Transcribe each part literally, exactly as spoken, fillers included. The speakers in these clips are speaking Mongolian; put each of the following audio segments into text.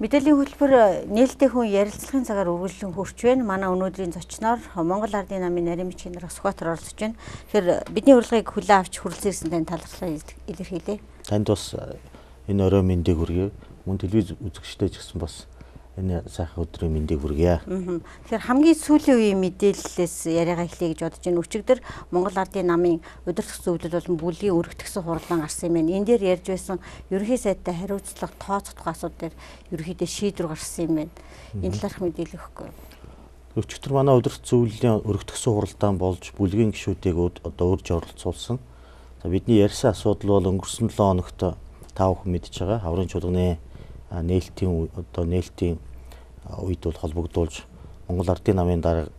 Мэдээллийн хөтөлбөр нээлттэй хүн ярилцлагын цагаар үргэлжлэн хурж байна. Манай өнөөдрийн зочноор Монгол Ардын намын нарийн бичгийн дарга Сүхбаатар оролцож байна. Тэгэхээр бидний урилгыг хүлээн авч хүрэлцэн ирсэн тань талархлаа илэрхийлье. Танд бас энэ орой мэндийг хүргэе. Мөн телевиз үзэгчтэй ч гэсэн бас энэ сайхан өдрийн мэндийг хүргье. Тэгэхээр хамгийн сүүлийн үеийн мэдээллээс яриагаа эхлэе гэж бодож байна. Өчигдөр Монгол Ардын намын удирдах зөвлөл болон бүлгийн өргөтгсөн хурлаан гарсан юм байна. Энэ дээр ярьж байсан ерөнхий сайдтай хариуцлага тооцохдох асуудал дээр ерөнхийдөө шийдвэр гарсан юм байна. Энэ талаарх мэдээлэл өгөхгүй. Өчигдөр манай удирдах зөвлөлийн өргөтгсөн хуралдаан болж бүлгийн гишүүдийг одоо урьж оролцуулсан. За бидний ярьсан асуудал бол өнгөрсөн долоо хоногт та бүхэн мэдж байгаа. Хаврын чуулганы нээлтийн одоо нээлтийн үед бол холбогдуулж Монгол Ардын намын дарга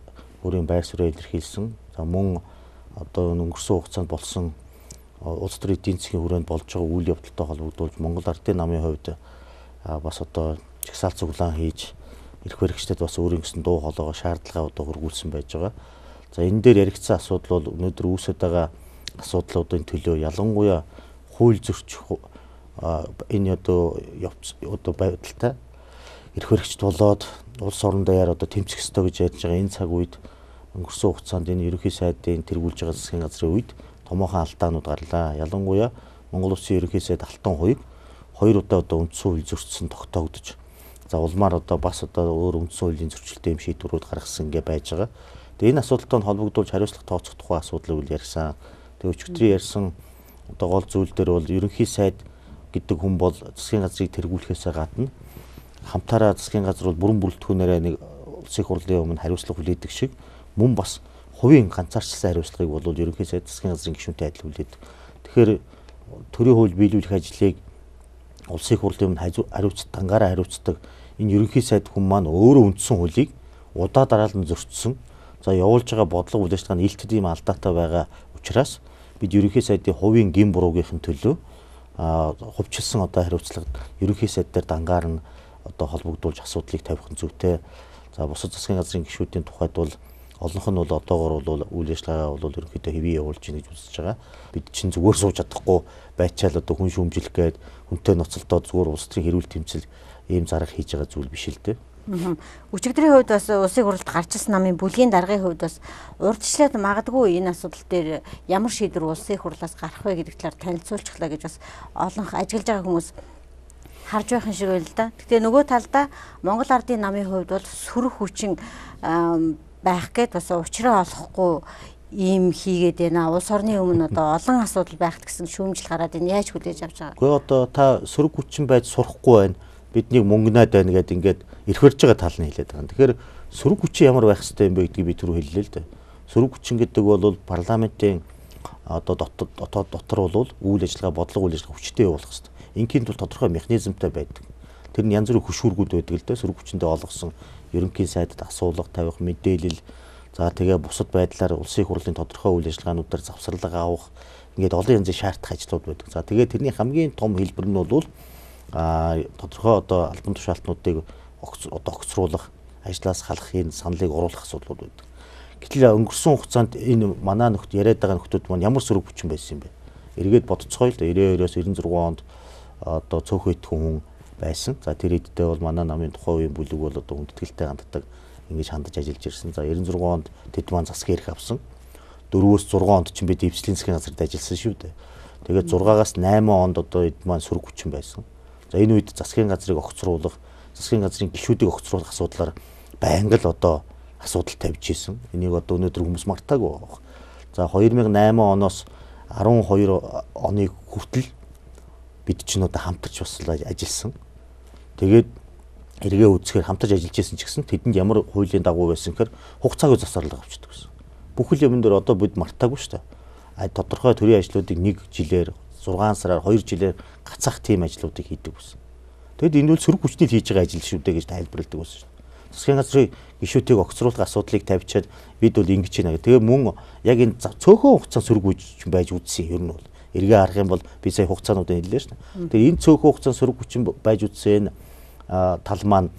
өөрийн байр суурийг илэрхийлсэн. За мөн одоо өнгөрсөн хугацаанд болсон улс төрийн эдийн засгийн хүрээнд болж байгаа үйл явдалтай холбогдуулж Монгол Ардын намын хувьд бас одоо чагсаалт цуглаан хийж эрх баригчдад бас өөрийн гэсэн дуу хоолойгоо шаардлагаа одоо хургуулсан байж байгаа. За энэ дээр яригдсан асуудал бол өнөөдөр үүсэж байгаа асуудлуудын төлөө ялангуяа хууль зөрчих энэ одоо явц одоо байдалтай эрх баригчд болоод улс орон даяар одоо тэмцэх ёстой гэж ярьж байгаа энэ цаг үед өнгөрсөн хугацаанд энэ ерөнхий сайдын тэргүүлж байгаа засгийн газрын үед томоохон алдаанууд гарлаа. Ялангуяа Монгол Улсын ерөнхий сайд Алтан хоёрыг хоёр удаа одоо үндсэн хууль зөрчсөн тогтоогдож. За улмаар одоо бас одоо өөр үндсэн хуулийн зөрчилтэй юм шийдвэрүүд гаргасан гэ байж байгаа. Тэгээ энэ асуудалтай холбогдуулж хариуцлага тооцох тухай асуудлыг үл ярьсан. Тэгээ өчигдрийн ярьсан одоо гол зүйл дээр бол ерөнхий сайд гэдэг хүн бол засгийн газрыг тэргүүлэхээс гадна хамтаараа засгийн газар бол бүрэн бүрэлдэхүүнээрээ нэг улсын хурлын өмнө хариуцлага хүлээдэг шиг мөн бас хувийн ганцаарчилсан хариуцлагыг бол ерөнхий сайд засгийн газрын гишүүнтэй адил хүлээдэг. Тэгэхээр төрийн хууль биелүүлэх ажлыг улсын хурлын өмнө хариуцдаг, дангаараа хариуцдаг энэ ерөнхий сайд хүн маань өөрөө үндсэн хуулийг удаа дараалан зөрчсөн. За явуулж байгаа бодлого үйл ажиллагааны илтгэд ийм алдаатай байгаа учраас бид ерөнхий сайдын хувийн гин буруугийнхэн төлөө хувьчилсан одоо хариуцлага ерөнхий сайд дээр дангаар нь одоо холбогдуулж асуудлыг тавих нь зүйтэй. За бусад засгийн газрын гишүүдийн тухайд бол олонх нь бол одоогоор бол үйл ажиллагаа бол ерөнхийдөө хэвээ явуулж ийн гэж үзэж байгаа. Бид чинь зүгээр сууж чадахгүй байчаал одоо хүн шүүмжлэх гээд хүнтэй ноцолдоод зүгээр улс төрийн хэрүүл тэмцэл ийм зарга хийж байгаа зүйл биш л дээ. Өчигдрийн хувьд бас улсын хурлд гарч ирсэн намын бүлгийн даргын хувьд бас урдчлаад магадгүй энэ асуудал дээр ямар шийдвэр улсын хурлаас гарах вэ гэдэг талаар танилцуулчихлаа гэж бас олонх ажиглаж байгаа хүмүүс харж байхын шиг байл л да. Гэтэ нөгөө талдаа Монгол Ардын намын хувьд бол сөрөг хүчин байх гээд бас учраа олохгүй ийм хийгээд байна. Улс орны өмнө одоо олон асуудал байхт гэсэн шүүмжил гараад энэ яаж хүлээж авч байгаа. Гэхдээ одоо та сөрөг хүчин байж сурахгүй байна. Биднийг мөнгнаад байна гэдэг ингээд эрх барьж байгаа тал нь хэлээд байгаа. Тэгэхээр сөрөг хүчин ямар байх ёстой юм бэ гэдгийг би түрүү хэллээ л дээ. Сөрөг хүчин гэдэг бол парламентын одоо дотор дотор бол үйл ажиллагаа бодлого үйл ажиллагаа хүчтэй явуулах ёстой. Ингийн тул тодорхой механизмтай байдаг. Тэр нь янз бүрийн хөшүүргүүд байдаг л дээ. Сөрөг хүчиндээ олгосон ерөнхий сайдад асуулга тавих, мэдээлэл, за тэгээ бусад байдлаар улсын хурлын тодорхой үйл ажиллагаануудаар завсарлага авах ингээд олон янзын шаардах ажлууд байдаг. За тэгээ тэрний хамгийн том хэлбэр нь бол а тодорхой одоо албан тушаалтнуудыг одоо огцруулах, ажлаас халах энэ саналыг оруулах асуудлууд байдаг. Гэтэл өнгөрсөн хугацаанд энэ манай нөхд яриад байгаа нөхдүүд маань ямар сөрөг хүчин байсан юм бэ? Эргээд бодцгоё л да найман двоос найман зургаан онд одоо цөөхөн идэх хүн байсан. За тэр эддээ бол манай намын тухайн үеийн бүлэг бол одоо хүндэтгэлтэй ханддаг ингэж хандаж ажиллаж ирсэн. За найман зургаан онд тэд маань засгийн эрх авсан. дөрвөөс зургаан онд ч би дэвслийн засгийн газарт ажилласан шүү дээ. Тэгээд зургаагаас найман онд одоо эд маань сөрөг хүчин байсан. За энэ үед засгийн газрыг огцруулах, засгийн газрын гишүүдийг огцруулах асуудлаар байнга л одоо асуудал тавьж ийсэн. Энийг одоо өнөөдөр хүмүүс мартаагүй байна. За хоёр мянган найман оноос арван хоёр оны хүртэл бид чинь одоо хамтарч бас ажилласан. Тэгээд эргээ үзэхээр хамтарч ажиллаж байсан ч гэсэн тэдэнд ямар хуулийн дагуу байсан гэхээр хугацаагүй засварлага авчдаг гэсэн. Бүх юм дээр одоо бид мартаагүй шүү дээ. А тодорхой төрийн ажлуудыг нэг жилээр зургаан сараар хоёр жилээр гацаах тийм ажлуудыг хийдэг байсан. Тэгэд энэ бол сөрөг хүчний хийж байгаа ажил шүү дээ гэж тайлбарладаг байсан шүү дээ. Засгийн газрын гишүүдийг огцруулах асуудлыг тавьчаад бид бол ингэж байна гэх. Тэгээ мөн яг энэ цөөхөн хугацаанд сөрөг хүчин байж үзсэн юм нь бол эргээ харах юм бол би сая хугацаануудыг хэллээ шүү дээ. Тэгээ энэ цөөхөн хугацаанд сөрөг хүчин байж үзсэн тал маань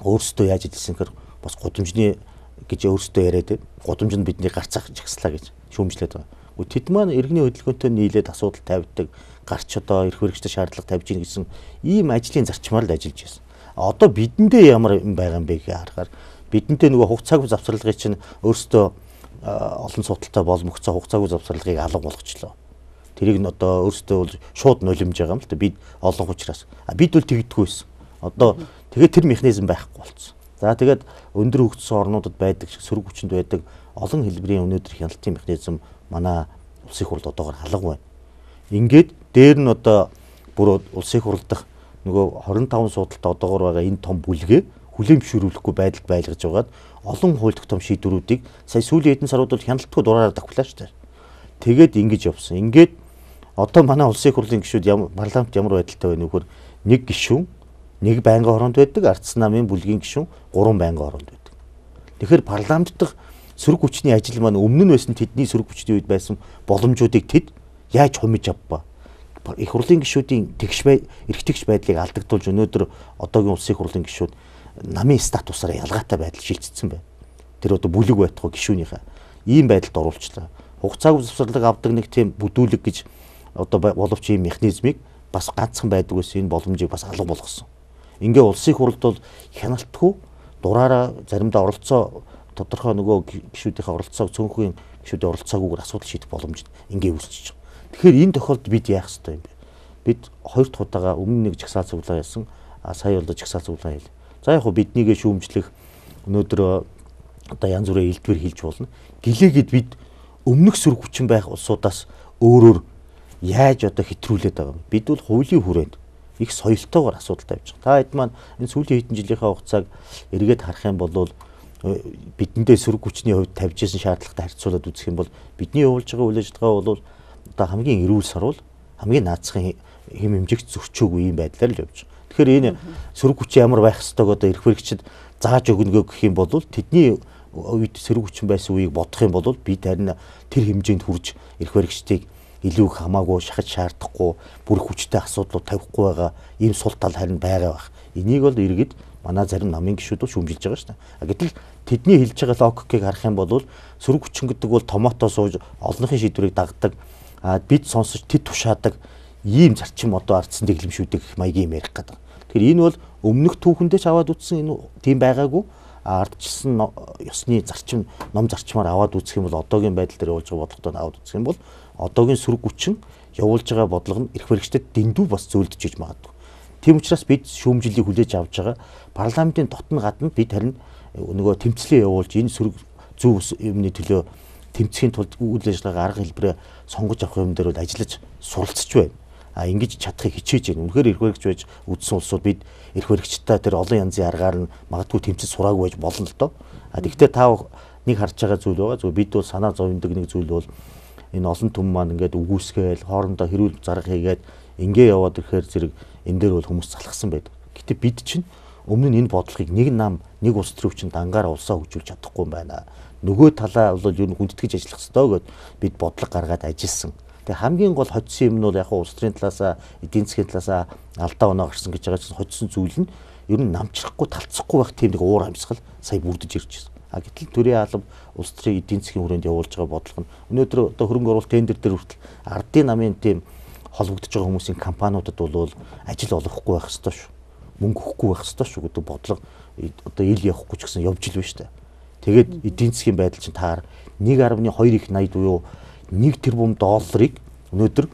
өөрсдөө яаж хэлсэн гэхээр бас гудамжны гэж өөрсдөө яриад байна. Гудамж нь бидний гарцаах жагслаа гэж шүүмжлээд байгаа. Тэд маань иргэний хөдөлгөөнтэй нийлээд асуудал тавьдаг, гарч одоо эрх баригчдад шаардлага тавьж ийн гэсэн ийм ажлын зарчмаар л ажиллаж байсан. Одоо бидэндээ ямар юм байгаа юм бэ гэж харахаар бидэнтэй нөгөө хугацаагүй завсралгыг чинь өөрсдөө олон судалтай боломжтой хугацаагүй завсралгыг алга болгочлоо. Тэрийг нь одоо өөрсдөө бол шууд нулимж байгаа юм л да бид олон учраас. А бид бол тэгдэггүй байсан. Одоо тэгээд тэр механизм байхгүй болсон. За тэгээд өндөр хөгжсөн орнуудад байдаг шиг сөрөг хүчинд байдаг олон хэлбэрийн өнөөдөр хяналтын механизм манай улсын хурлд одоогоор халга байна. Ингээд дээр нь одоо бүр улсын хурл дахь нөгөө хорин таван судалтай одоогоор байгаа энэ том бүлгээ хүлээмжшүүлэхгүй байдалд байлгаж байгаад олон хууль тогтоом шийдвэрүүдийг сая сүүлийн хэдэн сарууд бол хяналтгүй дураараа давхлаа шүү дээ. Тэгээд ингэж явсан. Ингээд одоо манай улсын хурлын гишүүд ямар парламент ямар байдалтай байна вэ гэхээр нэг гишүүн нэг байнгын хоронд байдаг, ардсан намын бүлгийн гишүүн гурван байнгын хоронд байдаг. Тэгэхээр парламент дахь сөрөг хүчний ажил маань өмнө нь байсан тэдний сөрөг хүчний үед байсан боломжуудыг тэд яаж хумиж авбаа. Их хурлын гишүүдийн тэгш бай, эрхтгч байдлыг алдагдуулж өнөөдөр одоогийн улсын хурлын гишүүд намын статусаараа ялгаатай байдал шилжчихсэн байна. Тэр одоо бүлэг байтугай гишүүнийхээ ийм байдалд оруулчлаа. Хугацаагүй завсарлаг авдаг нэг тийм бүдүүлэг гэж одоо боловч ийм механизмыг бас ганцхан байдаг гэсэн энэ боломжийг бас алга болгосон. Ингээ улсын хурлд бол хяналтгүй дураараа заримдаа оролцоо тодорхой нөгөө гишүүдийн оролцоог цөөнхийн гишүүдийн оролцоогүйгээр асуудал шийдэх боломж ингээ үүсчихэж байгаа. Тэгэхээр энэ тохиолдолд бид яах ёстой юм бэ? Бид хоёр дахь удаага өмнө нэг жагсаал цуглаа яасан, а сая бол жагсаал цуглаа хийлээ. За яг хөө биднийгээ шүүмжлэх өнөөдөр одоо янз бүрийн элдвэр хийж болно. Гэлээгээд бид өмнөх сөрөг хүчин байх улсуудаас өөрөөр яаж одоо хэтрүүлээд байгаа юм. Бид бол хуулийн хүрээнд их соёлтойгоор асуудал тавьж байгаа. Та хэд маань энэ сүүлийн хэдэн жилийнхээ хугацааг эргээд харах юм бол бидэндээ сөрөг хүчний хувьд тавьж исэн шаардлагатай харьцуулаад үзэх юм бол бидний явуулж байгаа үйл ажиллагаа бол одоо хамгийн эрүүл сарвал хамгийн наацхан хэм хэмжигч зөрчөөгүй юм байдлаар л явж байгаа. Тэгэхээр энэ сөрөг хүчин ямар байх ёстойг одоо эрх баригчид зааж өгнөгөө гэх юм бол тэдний үед сөрөг хүчин байсан үеийг бодох юм бол бид харин тэр хэмжээнд хүрж эрх баригчдыг илүү их хамаагүй шахаж шаардахгүй бүр хүчтэй асуудлууд тавихгүй байгаа ийм сул тал харин байгаа байх. Энийг бол иргэд манай зарим намын гишүүд бол шүүмжилж байгаа шүү дээ. А гэтэл тэдний хэлж байгаа логикийг харах юм бол сөрөг хүчин гэдэг бол томото сууж олонхын шийдвэрийг дагдаг. А бид сонсож тэд тушаадаг ийм зарчим одоо ардсан дэглэмшүүдийг маягийн юм ярих гэдэг. Тэгэхээр энэ бол өмнөх түүхэндээ ч аваад үтсэн энэ тийм байгаагүй. Ардчилсан ёсны зарчим ном зарчмаар аваад үзэх юм бол одоогийн байдал дээр явуулж байгаа бодлогоо аваад үзэх юм бол одоогийн сөрөг хүчин явуулж байгаа бодлого нь эрх баригчдад дэндүү бас зөөлдөж иж магадгүй. Тийм учраас бид шүүмжлэлийг хүлээж авч байгаа парламентын дотн гадна бид харин нөгөө тэмцлээ явуулж энэ сөрөг зөв юмны төлөө тэмцэхийн тулд үйл ажиллагаа арга хэлбэрээ сонгож авах юм дээр бол ажиллаж суралцж байна. А ингэж чадахыг хичээж байна. Үнэхээр эрх баригч байж үдсэн улсууд бид эрх баригчтай тэр олон янзын аргаар нь магадгүй тэмцэж сураагүй байж болно л доо. А тэгвэл та нэг харж байгаа зүйл байгаа. Зөв бид бол санаа зовндог нэг зүйл бол энэ олон түмэн маань ингээд үгүйсгээл хоорондоо хэрүүл зарга хийгээд ингээ яваад ирэхээр зэрэг энэ дээр бол хүмүүс залхсан байдаг. Гэтэ бид чинь өмнө нь энэ бодлогыг нэг нам нэг улс төрөв чинь дангаараа улсаа хөгжүүлж чадахгүй юм байна. Нөгөө талаа бол ер нь хүндэтгэж ажиллах ёстой гэд бид бодлого гаргаад ажилласан. Тэгээ хамгийн гол хоцсон юм нь бол яг улс төрийн талаасаа эдийн засгийн талаасаа алдаа оноо гарсан гэж байгаа чинь хоцсон зүйл нь ер нь намчрахгүй талцахгүй байх тийм нэг уур амьсгал сая бүрдэж ирж байна. А гэтэл төрийн алба улс төрийн эдийн засгийн хүрээнд явуулж байгаа бодлого нь өнөөдөр одоо хөрөнгө оруулалт тендер дээр хүртэл ардын намын тийм холбогдож байгаа хүмүүсийн компаниудад бол ажил олгохгүй байх ёстой шүү. Мөнгө өгөхгүй байх ёстой шүү гэдэг бодлого одоо ил явахгүй ч гэсэн явж ил байна шүү дээ. Тэгээд эдийн засгийн байдал чинь таар нэг гаруй хоёр их найд буюу нэг тэрбум долларыг өнөөдөр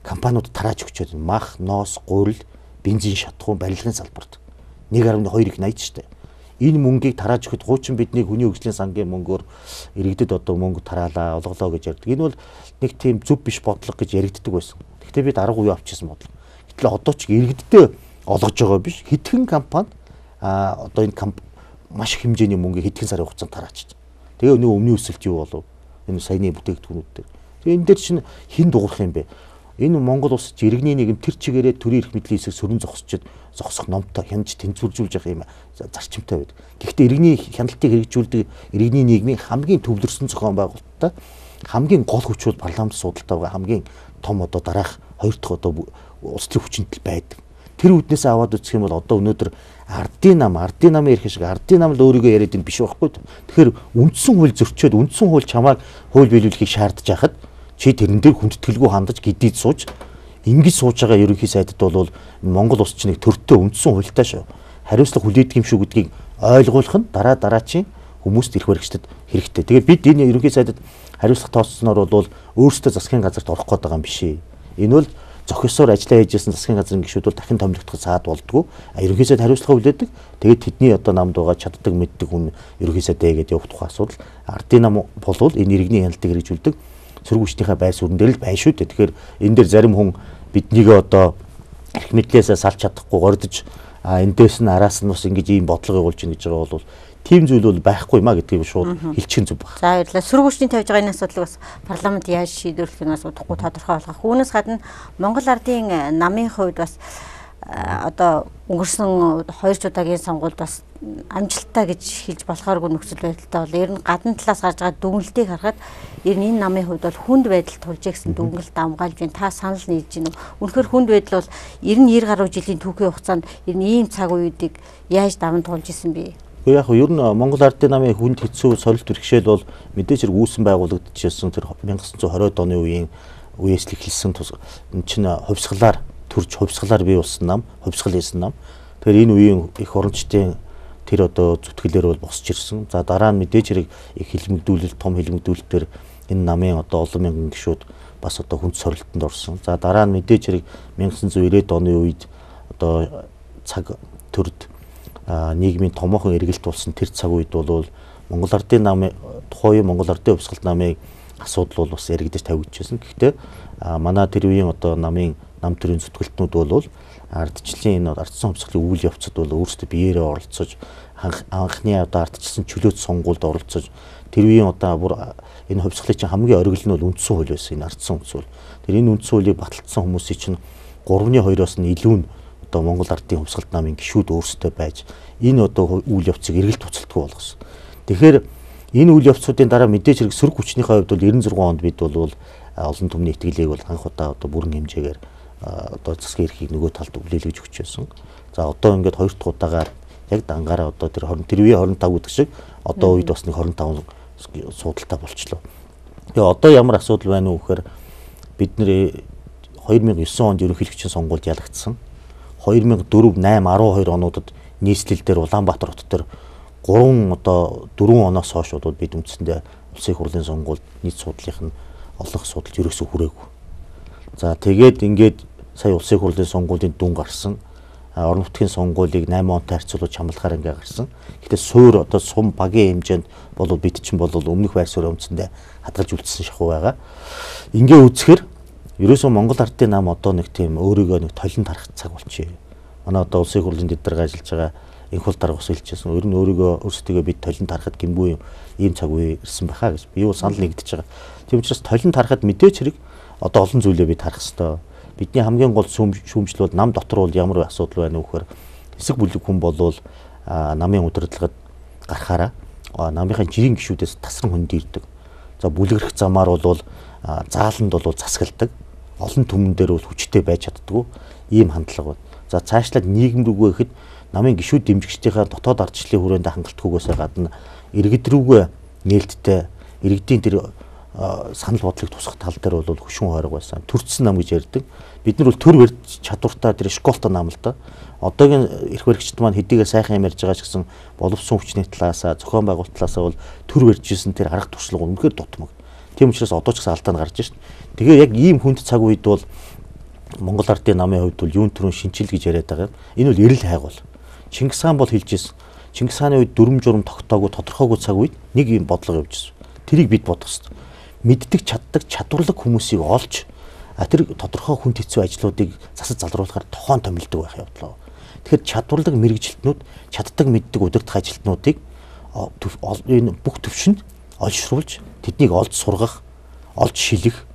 компаниуд тарааж өгчөөд мах, ноос, гурил, бензин шатхуун, барилгын салбарт нэг гаруй хоёр их найд шүү дээ. Энэ мөнгийг тарааж өгөхөд хуучин бидний хүний хөгжлийн сангийн мөнгөөр иргэдэд одоо мөнгө тараалаа, олголоо гэж ярьдаг. Энэ бол нэг тийм зөв биш бодлого гэж яригддаг байсан. Гэхдээ бид арга үе авчихсан бодлого. Гэтэл одоо ч иргэддээ олгож байгаа биш. Хэдхэн компани а одоо энэ маш их хэмжээний мөнгөийг хэдхэн сарын хугацаанд тараачиж. Тэгээ өнөө өмнө өсөлт юу болов? Энэ саяны бүтээгдэхүүнүүд дээр. Тэгээ энэ дээр чинь хэн дуурах юм бэ? Энэ Монгол улс иргэний нийгэм тэр чигээрээ төрийн эрх мэдлийн хэсэг сөрөн зогсчод зогсох номтой хянаж тэнцвэржүүлж явах юм зарчимтай байдаг. Гэхдээ иргэний хяналтыг хэрэгжүүлдэг иргэний нийгмийн хамгийн төвлөрсөн зохион байгуулалттай хамгийн гол хүч бол парламент судалтай байгаа хамгийн том одоо дараах хоёр дахь одоо улс төрийн хүчинтэл байдаг. Тэр үднээс аваад үзэх юм бол одоо өнөөдөр ардын нам, ардын намын эрх шиг ардын нам л өөрийгөө яриад энэ биш байхгүй. Тэгэхээр үндсэн хууль зөрчөөд үндсэн хууль чамааг хууль биелүүлэхийг шаардж байхад чи тэрэн дээр хүндэтгэлгүй хандаж гидийд сууж ингэж сууж байгаа ерөнхий сайдд бол Монгол улс чинь нэг төртөө үндсэн хуультай шүү. хариуцлага хүлээдэг юм шүү гэдгийг ойлгуулах нь дараа дараачийн хүмүүст ирэх баригчдад хэрэгтэй. Тэгээд бид энэ ерөнхий сайдад хариуцлага тооцсноор бол өөрсдөө засгийн газарт орох гээд байгаа юм биш ээ. Энэ бол зохисоор ажиллаа хийжсэн засгийн газрын гишүүд бол дахин томилогдох саад болдгоо. Ерөнхий сайд хариуцлага хүлээдэг. Тэгээд тэдний одоо намд байгаа чаддаг мэддэг хүн ерөнхий сайдаа гээд явах тухай асуудал. Ардын нам болвол энэ иргэний хяналтыг хэрэгжүүлдэг сөрөг хүчнийхээ байр суурин дээр л байна шүү дээ. Тэгэхээр энэ дээр зарим хүн биднийгээ одоо эрх мэдлээсээ салж чадахгүй гордож а эндээс нь араас нь бас ингэж ийм бодлого явуулж ийн гэж байгаа бол тийм зүйл бол байхгүй маа гэдгийг шууд хэлчихэн зүг байна. За баярлалаа. Сөрөг хүчний тавьж байгаа энэ асуудлыг бас парламент яаж шийдвэрлэх нь асуудахгүй тодорхой болгох. Үүнээс гадна Монгол Ардын намын хувьд бас одоо өнгөрсөн хоёр удаагийн сонгуульд бас амжилттай гэж хэлж болохооргүй нөхцөл байдалтай бол ер нь гадна талаас гарч байгаа дүгнэлтийг харахад ер нь энэ намын хувьд бол хүнд байдал тулж гэсэн дүгнэлт амгаалж байна. Та санал нийлж байна уу? Үнэхээр хүнд байдал бол ер нь нэр гаруй жилийн түүхийн хугацаанд ер нь ийм цаг үеийг яаж даван туулж исэн бэ? Яг нь ер нь Монгол Ардын намын хүнд хэцүү сорилт бэрхшээл бол мэдээж хэрэг үүсэн байгуулагдчихсан тэр 천ин девятьсот хориод оны үеийн үеэс л эхэлсэн энэ чинь хувьсгалаар төрж хувьсгалаар бий болсон нам, хувьсгал хийсэн нам. Тэгэхээр энэ үеийн их орончдын тэр одоо зүтгэлээр бол босч ирсэн. За дараа нь мэдээж хэрэг их хилмигдүүлэлт, том хилмигдүүлэлтээр энэ намын одоо олон мянган гишүүд бас одоо хүнд сорилтонд орсон. За дараа нь мэдээж хэрэг 천ин девятьсот девяносто оны үед одоо цаг төрд нийгмийн томоохон эргэлт болсон тэр цаг үед бол Монгол Ардын намын тухайн Монгол Ардын хувьсгалт намын асуудал бол бас яригдаж тавигдчихсэн. Гэхдээ манай тэр үеийн одоо намын нам төрийн зүтгэлтнүүд бол ардчлалын энэ ардсан хувьсгалын үйл явцад бол өөрсдөө биеэрээ оролцож анхны одоо ардчилсан чөлөөт сонгуульд оролцож тэр үеийн одоо бүр энэ хувьсгалын чинь хамгийн оргил нь бол үндсэн хууль байсан энэ ардсан хувьсгал. Тэр энэ үндсэн хуулийг баталсан хүмүүсийн чинь гуравны хоёроос нь илүү нь одоо Монгол Ардын хувьсгалт намын гишүүд өөрсдөө байж энэ одоо үйл явцыг эргэлт туцалтгүй болгосон. Тэгэхээр энэ үйл явцуудын дараа мэдээж хэрэг сөрөг хүчнийхээ хувьд бол девяносто секунд онд бид бол олон түмний итгэлийг бол анх удаа одоо бүрэн хэмжээгээр одоо засгийн эрхийг нөгөө талд үлээлгэж өгч байсан. За одоо ингээд хоёр дахь удаагаар яг дангаараа одоо тэр тэр үеийн двадцать пять гэдэг шиг одоо үед бас нэг двадцать пять суудалтай болчлоо. Тэгээ одоо ямар асуудал байна уу гэхээр бид нэр две тысячи девять онд ерөнхийлөгчийн сонгуульд ялагдсан. две тысячи четыре, восемь, двадцать two онуудад нийслэл дээр Улаанбаатар хот дээр гурван одоо дөрвөн оноос хойш бол бид үндсэндээ улсын их хурлын сонгуульд нийт суудлынх нь олонх судалж ерөөсөө хүрээгүй. За тэгээд ингээд сая улсын их хурлын сонгуулийн дүн гарсан. Орон нутгийн сонгуулийг восемь онтой харьцуулж хамлахаар ингээ гарсан. Гэхдээ суур одоо сум багийн хэмжээнд бол бид чинь бол өмнөх байр суурь өмцөндөө хадгалж үлдсэн шахуу байгаа. Ингээ үзэхээр ерөөсөө Монгол Ардын нам одоо нэг тийм өөрийгөө нэг толин тарах цаг болчихъя. Манай одоо улсын их хурлын дэдрэг ажиллаж байгаа инх хул дарга ус хэлчихсэн. Ер нь өөрийгөө өөрсдөө бид толин тарахад гэмгүй ийм цаг үе ирсэн байхаа гэж би юу санал нэгдэж байгаа. Тийм учраас толин тарахад мэдээч хэрэг одоо олон зүйлээ бид харах хэрэгтэй. Бидний хамгийн гол шүүмжил бол нам дотор бол ямар асуудал байна вэ гэхээр хэсэг бүлэг хүн болвол намын удирдлагад гарахаараа намынхаа жирийн гишүүдээс тасран хөндөрдөг. За бүлгэрэх замаар бол зааланд бол засгалдаг. Олон түмэн дээр бол хүчтэй байж чаддгүй ийм хандлага байна. За цаашлаад нийгэм рүүгээ ихэд намын гишүүд дэмжигчдийнхээ дотоод ардчлалын хүрээнд хангалтгүйгээсээ гадна иргэд рүүгээ нээлттэй иргэдийн тэр санал бодлыг тусах тал дээр бол хөшүүн хориг байсан. Төрцсөн нам гэж ярьдаг. Бид нар бол төр барьж чадвартай тэр школтой нам л да. Одоогийн эрх баригчид маань хэдийгээр сайхан юм ярьж байгаа ч гэсэн боловсон хүчний талаасаа зохион байгуулалт талаасаа бол төр барьжсэн тэр арга туршлага үнэхээр дутмаг. Тийм учраас одоо ч гэсэн алдаанд гарч шин. Тэгээ яг ийм хүнд цаг үед бол Монгол Ардын намын хувьд бол юун төрөн шинчил гэж яриад байгаа юм. Энэ бол эрэл хайгуул. Чингис хаан бол хэлжсэн. Чингис хааны үед дүрм журм тогтоогүй тодорхойгүй цаг үед нэг юм бодлого явж ирсэн. Тэрийг бид бодох хэрэгтэй. Мэддэг, чаддаг, чадварлаг хүмүүсийг олж тэр тодорхой хүнд хэцүү ажлуудыг засаж залруулахаар тохон томилдог байх явдлаа. Тэгэхээр чадварлаг мэрэгжилтнүүд, чаддаг, мэддэг, удирдах ажилтнуудыг энэ бүх төвшөнд олшруулж, тэднийг олж сургах, олж шилэх,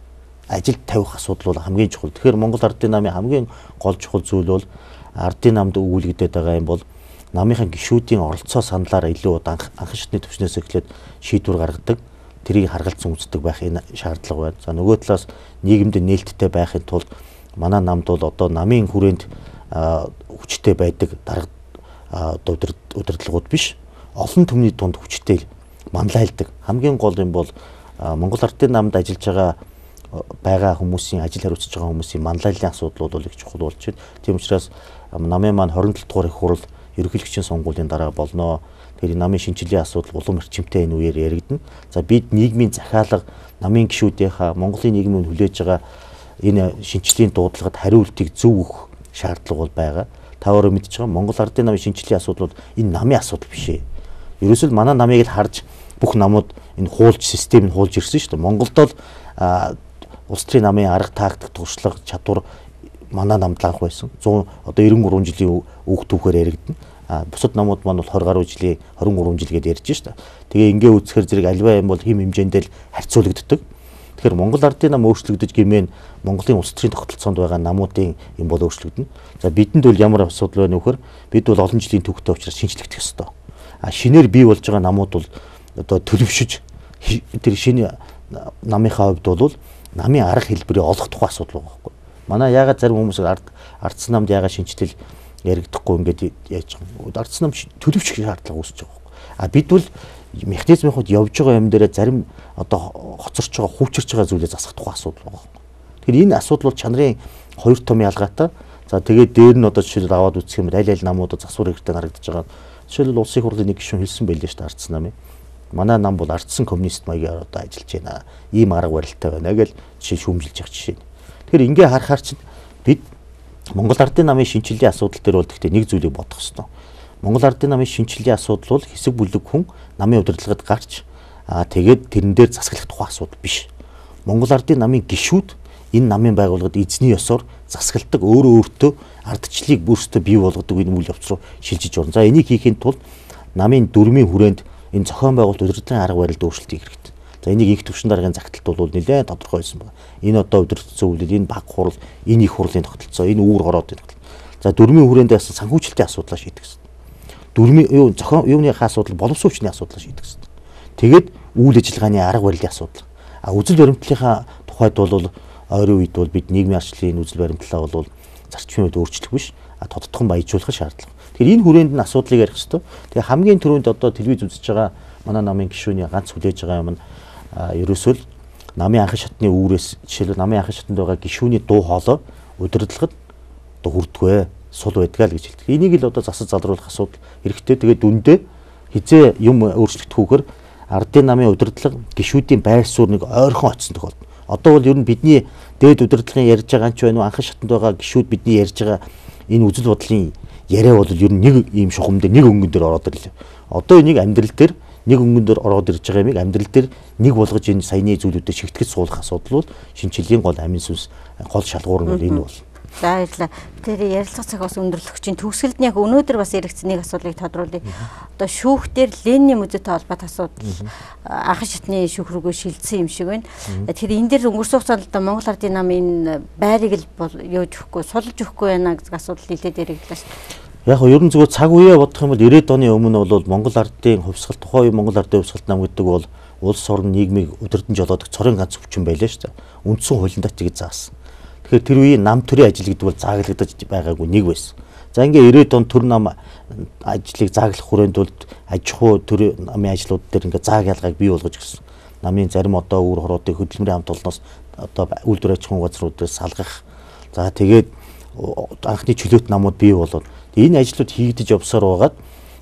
ажилд тавих асуудал бол хамгийн чухал. Тэгэхээр Монгол Ардын намын хамгийн гол чухал зүйл бол ардын намд өгүүлэгдээд байгаа юм бол намынхаа гишүүдийн оролцоо саналаараа илүү анх анхан шатны төвчнөөс эхлээд шийдвэр гаргадаг. Тэрийг харгалзан үздэг байх энэ шаардлага байна. За нөгөө талаас нийгэмд нээлттэй байхын тулд манай намд бол одоо намын хүрээнд хүчтэй байдаг дарга удирдлагууд биш, олон түмний дунд хүчтэй манлайлдаг. Хамгийн гол юм бол Монгол Ардын намд ажиллаж байгаа байгаа хүмүүсийн ажил хариуцж байгаа хүмүүсийн манлайллын асуудлууд бол их чухал болж байна. Тийм учраас намын маань двадцать долоо дугаар их хурал ерөнхийлөгчийн сонгуулийн дараа болно. Тэгэхээр намын шинжилгээ асуудал улам эрчимтэй энэ үеэр яригдана. За бид нийгмийн захиалга, намын гишүүдийнхаа Монголын нийгмийн хүлээж байгаа энэ шинжилгээний дуудлагад хариултыг зөв өгөх шаардлага бол байгаа. Та өөрөө мэдж байгаа Монгол Ардын намын шинжилгээ асуудал бол энэ намын асуудал биш ээ. Ерөөсөө манай намыг л харж бүх намууд энэ хуулж системийг хуулж ирсэн шүү дээ. Монголд бол улс төрийн намын арга тактик, туршлага, чадвар манай намд анх байсан. зуун одоо девяносто гурван жилийн үг түүхээр яригдана. А бусад намууд маань бол тwenty гаруй жилийн twenty three жил гэдээ ярьж штэ. Тэгээ ингээ үзэхэр зэрэг альва юм бол хим хэмжээндээ л харьцуулагддаг. Тэгэхээр Монгол Ардын нам өөрчлөгдөж гэмээн Монголын улс төрийн тогтолцоонд байгаа намуудын юм бол өөрчлөгдөнө. За бидэнд бол ямар асуудал байна вөхөр бид бол олон жилийн түүхтэй учраас шинжлэхдэх ёстой. А шинээр бий болж байгаа намууд бол одоо төлөвшөж тэр шинэ намынхаа хувьд бол намын арга хэлбэрийг олох тухай асуудал байгаа байхгүй. Манай ягаад зарим хүмүүс ардсан намд ягаад шинжлэл яригдахгүй ингээд яаж байгаа. Ардсан нам төлөвшөх шаардлага үүсэж байгаа байхгүй. А бид бол механизмын хувьд явж байгаа юм дээр зарим одоо хоцорч байгаа, хүүчирч байгаа зүйлээ засах тухай асуудал байгаа байхгүй. Тэгэхээр энэ асуудал бол чанарын хоёр том ялгаатай. За тэгээд дээр нь одоо жишээлбэл аваад үзэх юм бол аль аль намуудад засвар хэрэгтэй харагдаж байгаа. Жишээлбэл улсын хурлын нэг гишүүн хэлсэн байлээ шүү дээ ардсан намын. Манай нам бол ардсан коммунист маягаар одоо ажиллаж байна. Ийм арга барилтай байна гэж жишээ шүүмжилж явах жишээ. Тэгэхээр ингээ харахаар чинь бид Монгол Ардын намын шинжилгээ асуудал дээр бол гэхдээ нэг зүйлийг бодох хэрэгтэй. Монгол Ардын намын шинжилгээ асуудал бол хэсэг бүлэг хүн намын удирдлагад гарч аа тэгээд тэрэн дээр засаглах тухай асуудал биш. Монгол Ардын намын гишүүд энэ намын байгууллагад эзний ёсоор засагладаг өөрөө өөртөө ардчлалыг бүрстөө бий болгодог энэ үйл явц руу шилжиж орно. За энийг хийхин тулд намын дөрмийн хүрээнд энэ зохион байгуулалт удирдлагын арга барилд өөрчлөлт хийх хэрэгтэй. За энийг их түвшин даргын загталт бол нэлээд тодорхой байсан байна. Энэ одоо удирдлагын зөвлөл, энэ баг хурал, энэ их хурлын тогтолцоо, энэ үүр хороодын тогтолцоо. За дөрмийн хүрээндээ бас санхүүжилтийн асуудлаа шийдэх хэрэгтэй. Дөрмийн юу зохион юуныхаа асуудал, боловсон хүчний асуудлаа шийдэх хэрэгтэй. Тэгээд үйл ажиллагааны арга барилын асуудал. А үзэл баримтлалынхаа тухайд бол ойрын үед бол бид нийгмийн арчлалын үзэл баримтлалаа бол зарчмын үед өөрчлөх биш, а тодтогхон баяжуулах шаардлага. Тэгэхээр энэ хүрээнд нь асуудлыг ярих хэрэгтэй. Тэгээ хамгийн түрүүнд одоо телевиз үзэж байгаа манай намын гишүүний ганц хүлээж байгаа юм нь ерөөсөө л намын анхан шатны үүрээс жишээлбэл намын анхан шатанд байгаа гишүүний дуу хоолой удирдлагад одоо хүрдгвэ, сул байдгаа л гэж хэлдэг. Энийг л одоо засаж залруулах асуудал хэрэгтэй. Тэгээд дүндээ хизээ юм өөрчлөгдөхгүйгээр ардын намын удирдлага гишүүдийн байр суурь нэг ойрхон очсон тохиолдол. Одоо бол ер нь бидний дээд удирдлагын ярьж байгаа ч байна уу, анхан шатанд байгаа гишүүд бидний ярьж байгаа энэ үзэл бодлын яриа бол ер нь нэг ийм шухам дээр нэг өнгөн дээр ороод ирлээ. Одоо энийг амьдрал дээр нэг өнгөн дээр ороод ирж байгаа юмыг амьдрал дээр нэг болгож энэ саяны зүйлүүдэд шигтгэж суулгах асуудал бол шинжилгээний гол амин сүнс гол шалгуур нь бол энэ бол. За баярлалаа. Тэр ярилцлага цаг бас өндөрлөгчийн төгсгөлд нь яг өнөөдөр бас яригдсан нэг асуудлыг тодруулъя. Одоо шүүхтэр Ленинийн музейтэй холбоотой асуудал анхан шатны шүүх рүүгээ шилжсэн юм шиг байна. Тэгэхээр энэ дээр өнгөрсөн хугацаанд одоо Монгол Ардын намын байрыг л яаж өгөхгүй, сулж өгөхгүй байна гэсэн асуудал нэлээд яригдлаа шүү дээ. Яг нь ерөн зүгээр цаг үеэ бодох юм бол ирээдүйн оны өмнө бол Монгол Ардын хувьсгал тухайн Монгол Ардын хувьсгалт нам гэдэг бол улс орн нийгмийг удирдан жолоодог цорын ганц өвчин байлаа шүү дээ. Үндсэн хуулиндаа ч гэж заасан. Тэгэхээр тэр үеийн нам төрийн ажил гэдэг бол зааглагдаж байгаагүй нэг байсан. За ингээ ирээд он төр нам ажлыг зааглах хүрээнд бол аж ахуй төр намын ажлууд дээр ингээ зааг ялгааг бий болгож гисэн. Намын зарим одоо үүр хороодын хөдөлмөрийн хамт олноос одоо үйлдвэр аж ахуйн газруудаас салгах. За тэгээд анхны чөлөөт намууд бий болоод энэ ажлууд хийгдэж явсаар байгаад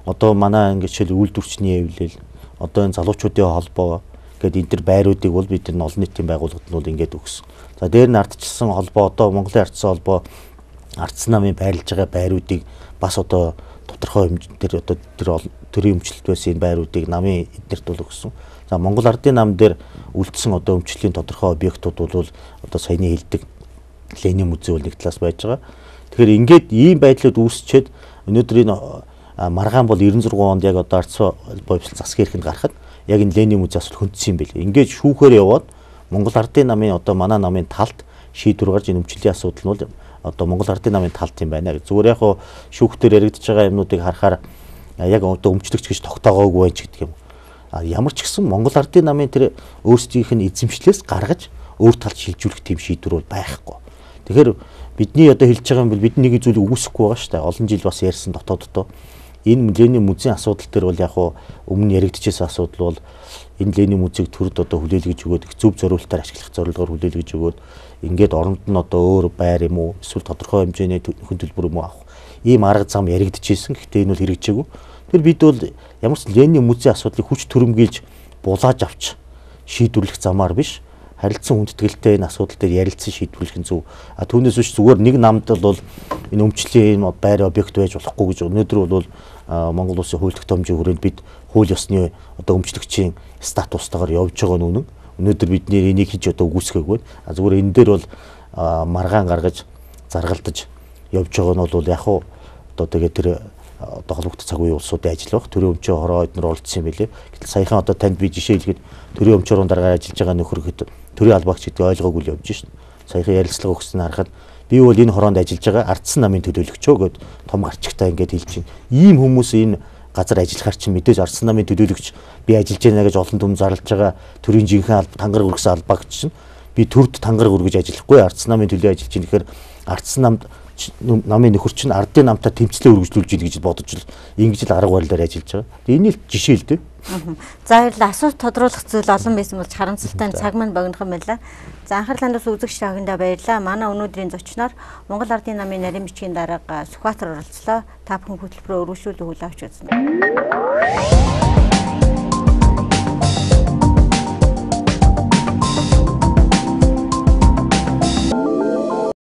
одоо манай ингээ жишээл үйлдвэрчний эвлэл одоо энэ залуучуудын холбоо гэдэг энэ төр байруудыг бол бид нар олон нийтийн байгууллагад нь бол ингээд өгсөн. За дээр нь ардчилсан холбоо одоо Монголын ардсан холбоо ардсан намын байрлаж байгаа байруудыг бас одоо тодорхой хэмжээгээр одоо тэр төрийн өмчлөлт байсан энэ байруудыг намын эднэрт бол өгсөн. За Монгол Ардын нам дээр үлдсэн одоо өмчлөлийн тодорхой объектууд бол одоо саяны хэлдэг Ленин музей бол нэг талаас байж байгаа. Тэгэхээр ингээд ийм байдлууд үүсчээд өнөөдөр энэ маргаан бол девяносто six онд яг одоо ардсан боловсрол засгийн эрхэнд гарахад яг энэ Ленин музей асуул хөндсөн юм байлээ. Ингээд шүүхээр яваад Монгол Ардын намын одоо манай намын талд шийдвэр гарч энэ өмчлөлийн асуудал нь бол одоо Монгол Ардын намын талд юм байна гэж. Зүгээр яг хуу шүүхтэр яригдж байгаа юмнуудыг харахаар яг одоо өмчлөгч гэж тогтоогоогүй байх гэдэг юм. А ямар ч гэсэн Монгол Ардын намын тэр өөрсдийнх нь эзэмшлээс гаргаж өөр талд шилжүүлэх тийм шийдвэр бол байхгүй. Тэгэхээр бидний одоо хэлж байгаа юм бол бид нэг зүйлийг үгүйсэхгүй байгаа шүү дээ. Олон жил бас ярьсан дотооддоо энэ Ленин музейн асуудал дээр бол яг хуу өмнө яригдчихсэн асуудал бол энэ Ленин музейг төрд одоо хүлээлгэж өгөөд зөв зориултаар ашиглах зорилгоор хүлээлгэж өгөөд ингээд оронд нь одоо өөр байр юм уу эсвэл тодорхой хэмжээний хүн төлбөр юм уу авах ийм арга зам яригдчихсэн. Гэхдээ энэ бол хэрэгжээгүй. Тэр бид бол ямар ч Ленин музей асуудлыг хүч төрөмгийлж булааж авч шийдвэрлэх замаар биш, харилцан хүндэтгэлтэй энэ асуудал дээр ярилцсан шийдвэрлэх нь зөв. А түүнээс биш зүгээр нэг намд бол энэ өмчлөлийн энэ байр объект байж болохгүй гэж өнөөдөр бол Монгол улсын хууль тогтоомжийн хүрээнд бид хууль ёсны одоо өмчлөгчийн статустайгаар явж байгаа нь үнэн. Өнөөдөр бид энийг хийж одоо үгүйсгээгүй. А зүгээр энэ дээр бол маргаан гаргаж заргалдаж явж байгаа нь бол яг хуу одоо тэгээд тэр одоо холбогдох цаг үеийн улсуудын ажил баг. Төрийн өмчөө хороо эднэр оролцсон юм билээ. Гэтэл саяхан одоо танд би жишээ хэлгээд төрийн өмчөөрөн дараагаар ажиллаж байгаа нөхөрөд төрийн албаагч гэдэг ойлгоогүй л явж шин. Саяхан ярилцлага өгсөн харахад би бол энэ хороонд ажиллаж байгаа ардсан намын төлөөлөгчөө гэд том гарчигтай ингээд хэлж чинь. Ийм хүмүүс энэ газар ажиллахаар чинь мэдээж ардсан намын төлөөлөгч би ажиллаж байна гэж олон түмэн зарлж байгаа төрийн жинхэнэ тангар үргэсэн албаагч чинь би төрд тангар үргэж ажиллахгүй ардсан намын төлөө ажиллаж байна гэхээр ардсан намд намын нөхөр чинь ардын намтаа тэмцлээ үргэлжлүүлж ийн гэж бодож л ингэж л арга барилаар ажиллаж байгаа. Энийг л жишээ л дээ. За баярлалаа. Асуулт тодруулах зүйл олон байсан болж харамсалтай цаг маань богинохон байлаа. За анхаарлаа үзэгч тагнда баярлалаа. Манай өнөөдрийн зочноор Монгол Ардын намын нарийн бичгийн дарга Сүхбаатар оролцлоо. Та бүхэн хөтөлбөрөөр өргөжлүүлэн хүлээн авч үзсэн.